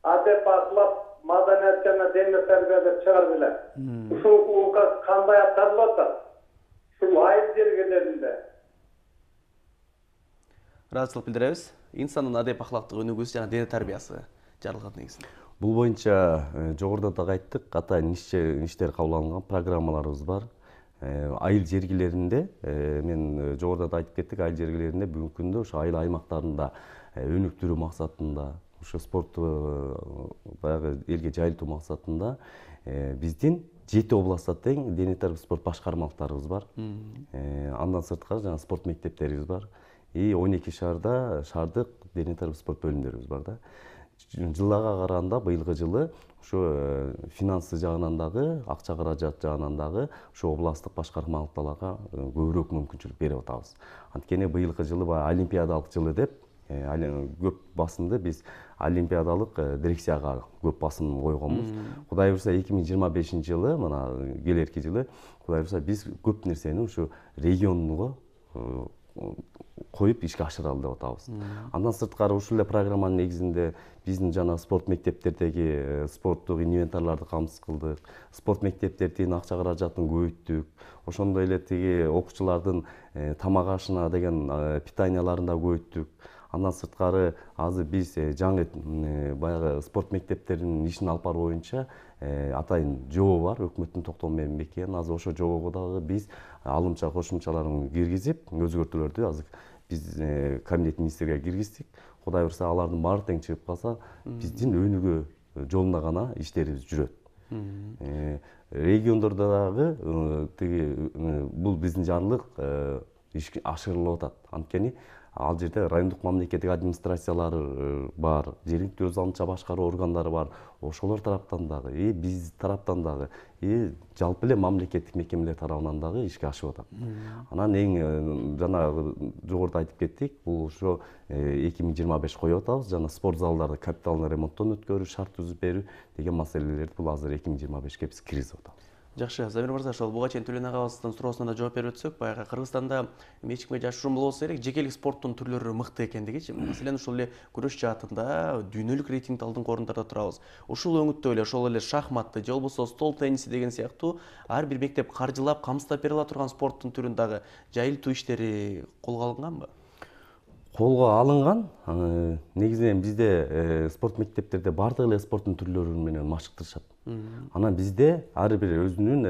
адеп аклап маданият жана дене тарбия деп чыгарды эле. Ушул указ кандай аткарылып атат? Ушул айыл жергелеринде. ыраазычылык билдиребиз. Инсандын адеп ахлактык өнүгүүсү жана дене тарбиясы жаралган негизинде. Бул боюнча жогоруда да айттык, катайын иштер кабыл алынган программаларыбыз бар. Айыл жергелеринде, мен жогоруда да айтып кеттик, айыл жергелеринде бүгүнкү күндө ошо айыл аймактарында өнүктүрүү максатында, ошо спортту баягы элге жайылтуу максатында биздин 7 областта тең дене тарбия спорт башкармалыктарыбыз бар. Андан сырткары жана спорт мектептерибиз бар. 12 шаардык дене тарбия спорт бөлүмдөрүбүз бар да. Жылга караганда быйылкы жылы ошо финансы жагынан дагы, акча каражат жагынан дагы ошо областтык башкармалыктарга көбүрөөк мүмкүнчүлүк берип атабыз. Анткени быйылкы жылы олимпиадалык жылы деп көп басымды биз олимпиадалык дирекцияга көп басым койгонбуз. Кудай буйрса 2025 жылы, мына келерки жылы, кудай буйрса биз көп нерсени ушу регионго коюп ишке ашыралы деп атабыз. Андан сырткары ушул эле программанын негизинде биздин жана спорт мектептердеги спорттук инвентарларды камсыз кылдык, спорт мектептердин акча каражатын көбөйттүк, ошондой эле тиги окуучулардын тамак ашына деген питанияларын да көбөйттүк. Андан сырткары азыр биз жаңы баягы спорт мектептеринин ишин алып баруу боюнча атайын жобо бар, өкмөттүн токтому менен бекиген. Азыр ошо жобого дагы биз алымча кошумчаларын киргизип, өзгөртүүлөрдү азыр биз кабинет министрге киргиздик. Кудай буйрса алардын баары тең чыгып калса, биздин өнүгүү жолунда гана иштерибиз жүрөт. Региондордо дагы тиги бул биздин жарлык ишке ашырылып атат. Анткени ал жерде райондук мамлекеттик администрациялары бар, жергиликтүү өз алдынча башкаруу органдары бар. Ошолор тараптан дагы, биз тараптан дагы, жалпы эле мамлекеттик мекемелер тарабынан дагы ишке ашып атат. Анан эң жанагы жогоруда айтып кеттик, бул ошо 2025 коюп атабыз, жана спорт залдарды капиталдык ремонттон өткөрүү, шарт түзүп берүү деген маселелерди бул азыр 2025ке биз киргизип атабыз. Жакшы, Замир мырза, ошол буга чейин Төлөн агабыздын суроосуна да жооп берип өтсөк, баягы Кыргызстанда эч кимге жашыруун болбосо керек, жекелик спорттун түрлөрү мыкты экендигичи. Маселен, ушул эле күрөш жаатында дүйнөлүк рейтингде алдыңкы орундарда турабыз. Ушул өңүттө эле ошол эле шахматты же болбосо стол тенниси деген сыяктуу ар бир мектеп каржылап, камсыздап бере ала турган спорттун түрүн дагы жайылтуу иштери колго алынганбы? Колго алынган. Негизинен бизде спорт мектептерде бардык эле спорттун түрлөрү менен машыктырышат. Анан бизде ар бир өзүнүн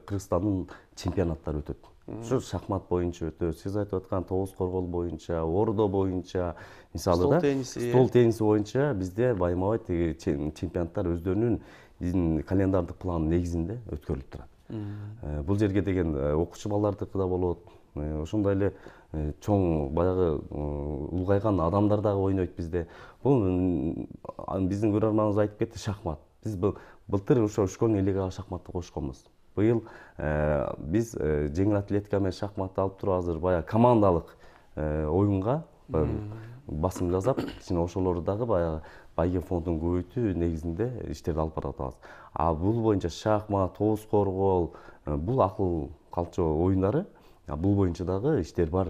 Кыргызстандын чемпионаттары өтөт. Ушу шахмат боюнча өтөт, сиз айтып аткан тогуз коргол боюнча, ордо боюнча, мисалы да стол тенниси боюнча бизде байма-бай тиги чемпионаттар өздөрүнүн биздин календардык пландын негизинде өткөрүлүп турат. Бул жерге деген окуучу балдардыкы да болот. Ошондой эле чоң баягы улгайган адамдар дагы ойнойт бизде. Бул биздин көрөрманыбыз айтып кетти, шахмат. Биз былтыр ошо школьный лигага шахматты кошконбуз. Быйыл биз жеңил атлетика менен шахматты алып туруп азыр баягы командалык оюнга басым жасап, кичине ошолорду дагы баягы байге фондун көбөйтүү негизинде иштерди алып барып атабыз. Бул боюнча шахмат, тогуз коргол, бул акыл калчоо оюндары, бул боюнча дагы иштер бар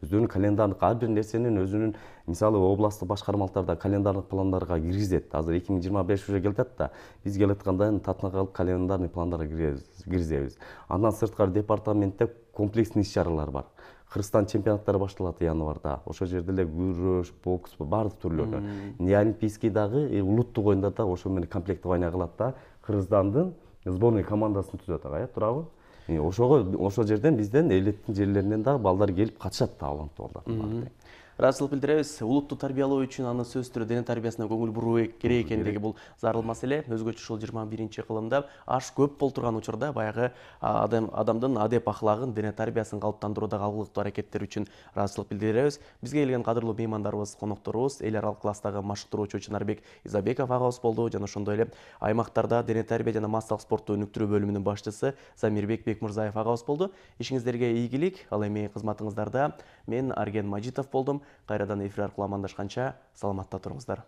өздөрүнүн календардык ар бир нерсенин өзүнүн, мисалы областтык башкармалыктарда календардык пландарга киргизет. Азыр 2025 уже келатат да, биз келаткандан татына калып календарный пландарга киргизебиз. Андан сырткары департаментте комплексный иш-чаралар бар. Кыргызстан чемпионаттары башталат январда. Ошол жерде эле күрөш, бокс, баардык түрлөрү. Неолимпийский дагы, улуттук оюндарда ошо менен комплектование кылат да, Кыргызстандын сборный командасын түзөт ага, туурабы? Ошол жерден бизден элиттин жерлеринен дагы балдар келип катышат да, таланттуу балдар. ыраазычылык билдиребиз. Улутту тарбиялоо үчүн аны сөзсүз түрдө дене тарбиясына көңүл буруу керек экендиги бул зарыл маселе. Өзгөчө ушул 21-кылымда аш көп болуп турган учурда баягы адамдын адеп ахлагын, дене тарбиясын калыптандыруудагы алгылыктуу аракеттер үчүн ыраазычылык билдиребиз. Бизге келген кадырлуу меймандарыбыз, конокторубуз эл аралык класстагы машыктыруучу Чынарбек Изабеков агабыз болду жана ошондой эле аймактарда дене тарбия жана массалык спортту өнүктүрүү бөлүмүнүн башчысы Замирбек Бекмырзаев агабыз болду. Ишиңиздерге ийгилик. Ал эми кызматыңыздарда мен Арген Мажитов болдум. Кайрадан эфир аркылуу амандашканча саламатта туруңуздар.